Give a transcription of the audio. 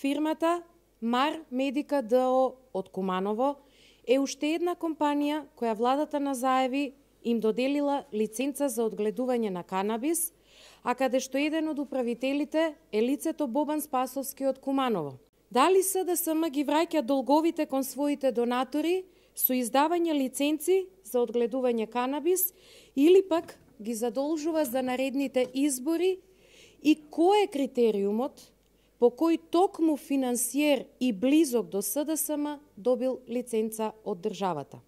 фирмата Мар Медика ДО од Куманово е уште една компанија која владата на Заеви им доделила лиценца за одгледување на канабис, а каде што еден од управителите е лицето Бобан Спасовски од Куманово. Дали СДСМ ги враќа долговите кон своите донатори со издавање лиценци за одгледување канабис или пак ги задолжува за наредните избори и кој е критериумот по кој токму финансиер и близок до СДСМ добил лиценца од државата?